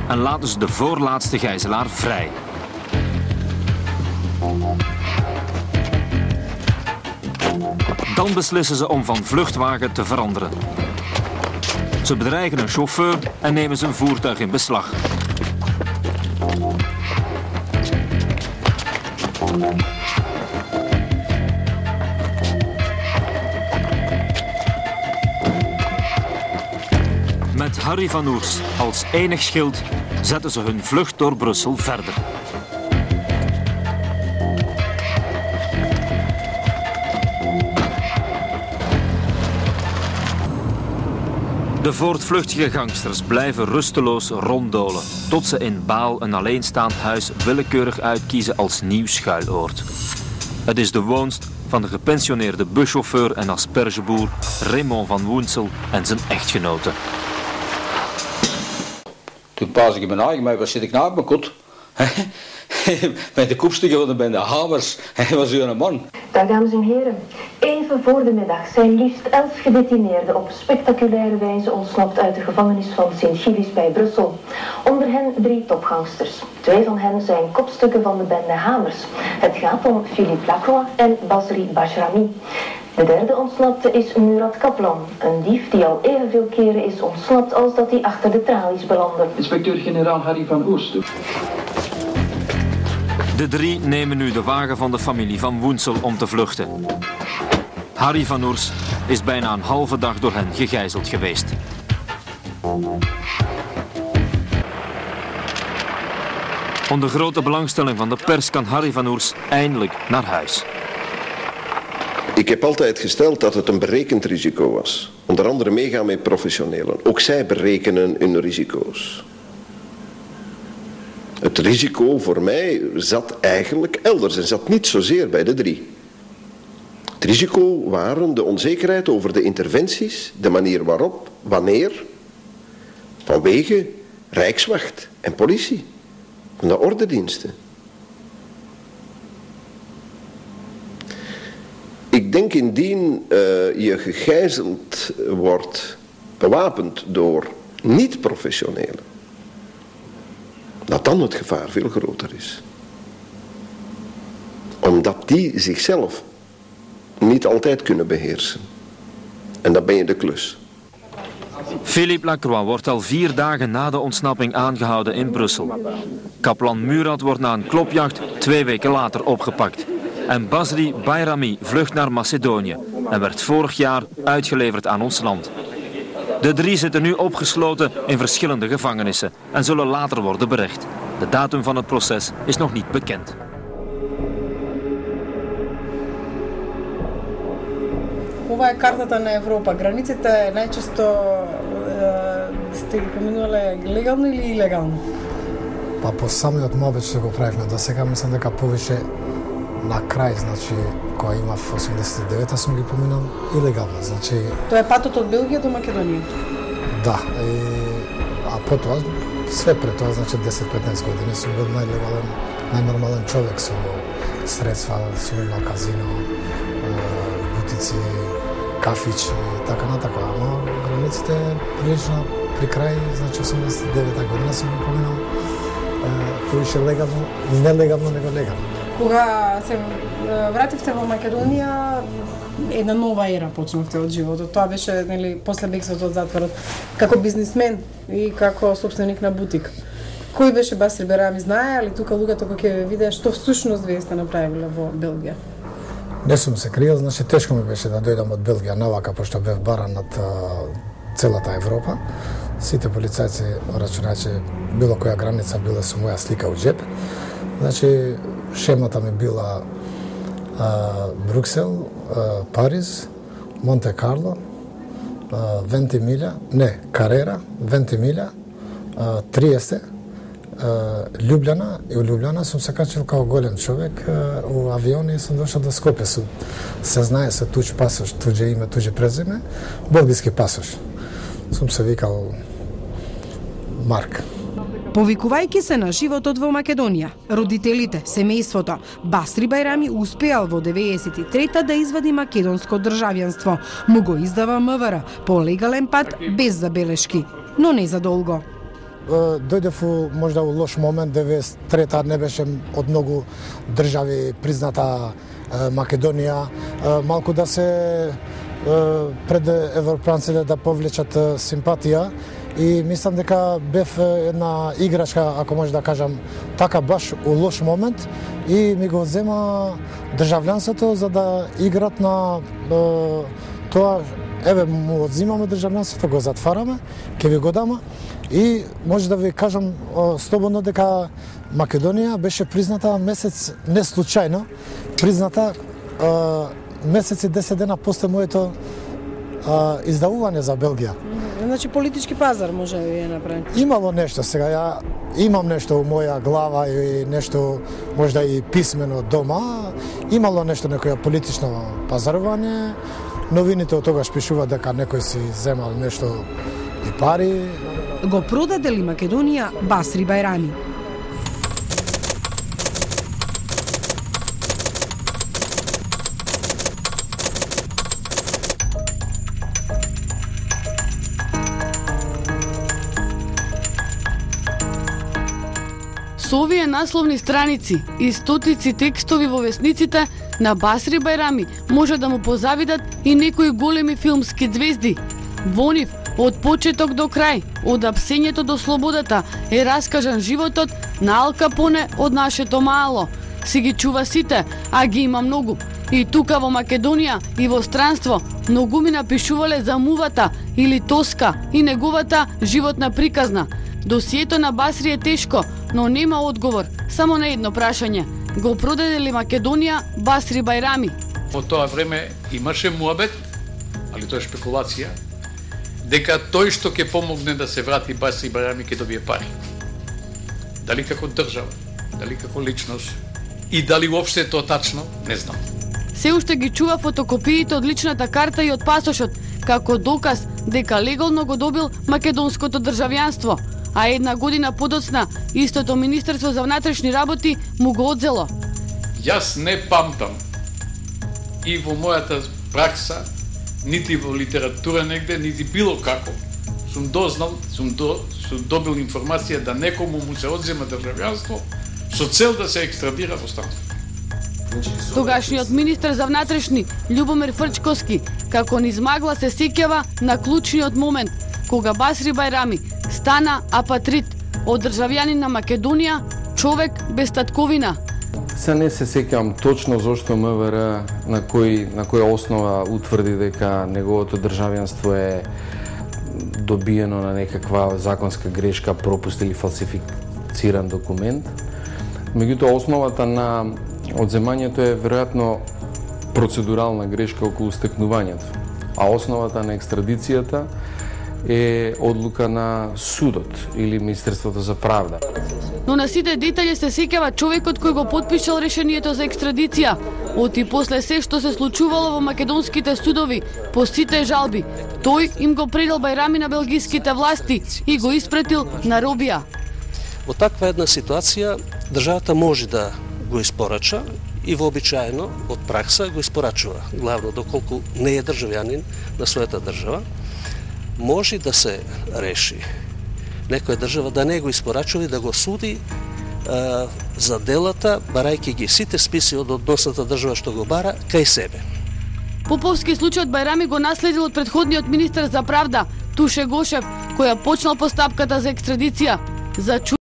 en laten ze de voorlaatste gijzelaar vrij. Dan beslissen ze om van vluchtwagen te veranderen. Ze bedreigen een chauffeur en nemen zijn voertuig in beslag. Met Harry van Oers als enig schild zetten ze hun vlucht door Brussel verder. De voortvluchtige gangsters blijven rusteloos ronddolen, tot ze in Baal een alleenstaand huis willekeurig uitkiezen als nieuw schuiloord. Het is de woonst van de gepensioneerde buschauffeur en aspergeboer Raymond van Woensel en zijn echtgenote. Toen paas ik mijn eigen, maar wat zit ik nou op mijn kot? Met de kopstukken van de bende Hamers. Hij was een man. Dag dames en heren. Even voor de middag zijn liefst 11 gedetineerden op spectaculaire wijze ontsnapt uit de gevangenis van Sint-Gilles bij Brussel. Onder hen 3 topgangsters. 2 van hen zijn kopstukken van de bende Hamers. Het gaat om Philippe Lacroix en Basri Bajrami. De derde ontsnapte is Murat Kaplan, een dief die al evenveel keren is ontsnapt als dat hij achter de tralies belandde. Inspecteur-generaal Harry van Oers. De 3 nemen nu de wagen van de familie van Woensel om te vluchten. Harry van Oers is bijna een halve dag door hen gegijzeld geweest. Onder grote belangstelling van de pers kan Harry van Oers eindelijk naar huis. Ik heb altijd gesteld dat het een berekend risico was. Onder andere meegaan met professionelen. Ook zij berekenen hun risico's. Het risico voor mij zat eigenlijk elders en zat niet zozeer bij de 3. Het risico waren de onzekerheid over de interventies, de manier waarop, wanneer, vanwege Rijkswacht en politie, van de ordendiensten. Ik denk indien je gegijzeld wordt, bewapend door niet-professionelen, dat dan het gevaar veel groter is. Omdat die zichzelf niet altijd kunnen beheersen. En dan ben je de klus. Philippe Lacroix wordt al 4 dagen na de ontsnapping aangehouden in Brussel. Kaplan Murat wordt na een klopjacht 2 weken later opgepakt. En Basri Bajrami vlucht naar Macedonië en werd vorig jaar uitgeleverd aan ons land. De 3 zitten nu opgesloten in verschillende gevangenissen en zullen later worden berecht. De datum van het proces is nog niet bekend. Ова е картата на Европа. Границите најчесто сте ги поминувале легално или илегално? Па по самиот мобет што го правивме до сега, мислам дека повише на крај, значи, кога имав 89-та сум ги поминал илегално, значи... Тоа е патот од Белгија до Македонија? Да, а потоа, све пред тоа, значи 10-15 години сум бил најлегален, најнормален човек со средства, сум имал казино, бутици, кафич и така натака, ама границите прилично при крај, значи 89-та година сум ги поминал повише легално, нелегално него легално. Кога се вративте во Македонија, една нова ера почнавте од животот. Тоа беше, нели, после бегството од затворот, како бизнисмен и како собственик на бутик. Кој беше Басри Бajrami, знае, али тука луѓето кога ќе видеа што всушност вие сте направиле во Белгија? Не сум се криел, значи тешко ми беше да дојдам од Белгија навака, пошто бев баран од целата Европа. Сите полицајци рачунаат че било која граница била со моја слика од джеп. Значи, шемата ми била Бруксел, Париз, Монте Карло, Вентимилја, не, Карера, Вентимилја, Триесте, Љубљана, и у Љубљана сум се качил као голем човек у авион и сум дошол до Скопје. Се знае со туѓ пасош, туѓе име, туѓе презиме, белгиски пасош. Сум се викал Марк. Повикувајќи се на животот во Македонија, родителите, семејството, Басри Bajrami успеал во 93-та да извади македонско државјанство. Му го издава МВР по легален пат без забелешки, но не за долго. дојдев можда у лош момент, 93-та не беше од многу држави призната Македонија, малку да се пред европејците да повлечат симпатија и мислам дека бев една играчка, ако може да кажам така, баш у лош момент и ми го зема државјанството за да играт на тоа. Еве, му одзимаме државјанството, го затвараме, ќе ви го дама и може да ви кажам слободно дека Македонија беше призната месец, не случајно, призната месец и 10 дена после моето издавување за Белгија. Значи политички пазар може да ви е направен. Имало нешто сега, ја имам нешто у моја глава и нешто можда и писмено дома, имало нешто некоја политично пазарување. Новините од тогаш пишуваат дека некој си земал нешто и пари. Го продаде ли Македонија Басри Бајрами? Со овие насловни страници и стотици текстови во весниците на Басри Бајрами може да му позавидат и некои големи филмски звезди. Во нив, од почеток до крај, од апсењето до слободата, е раскажан животот на Ал Капоне од нашето мало. Си ги чува сите, а ги има многу. И тука во Македонија и во странство многу ми напишувале за мувата или Тоска и неговата животна приказна. Досието на Басри е тешко, но нема одговор, само на едно прашање. Го продаде ли Македонија Басри Бајрами? Во тоа време имаше муабет, али тоа е шпекулација, дека тој што ќе помогне да се врати Басри Бајрами ќе добие пари. Дали како држава, дали како личност и дали уопште е тоа тачно, не знам. Се уште ги чува фотокопиите од личната карта и од пасошот, како доказ дека легално го добил македонското државјанство, а една година подоцна истото Министерство за внатрешни работи му го одзело. Јас не памтам и во мојата пракса, нити во литература негде, нити било како, сум дознал, сум добил информација да некому му се одзема државјанство со цел да се екстрадира во странство. Тогашниот министер за внатрешни Љубомир Фрчковски како низ магла се сеќава на клучниот момент кога Басри Бајрами стана апатрид од државјанин на Македонија, човек без татковина. Се не се сеќавам точно зошто МВР на која основа утврди дека неговото државјанство е добиено на некаква законска грешка, пропуст или фалсифициран документ. Меѓутоа, основата на одземањето е веројатно процедурална грешка околу стекнувањето, а основата на екстрадицијата е одлука на судот или Министерството за правда. Но на сите детали се сеќава човекот кој го потпишал решението за екстрадиција. Оти после се што се случувало во македонските судови, по сите жалби, тој им го предал Бајрами на белгиските власти и го испратил на робија. Во таква една ситуација државата може да го испорача и вообичаено од пракса го испорачува, главно доколку не е државјанин на својата држава, може да се реши некоја држава да не го испорачува и да го суди за делата, барајќи ги сите списи од односната држава што го бара кај себе. Поповски случајот Бајрами го наследил од претходниот министер за правда Туше Гошев, која почнал постапката за екстрадиција. За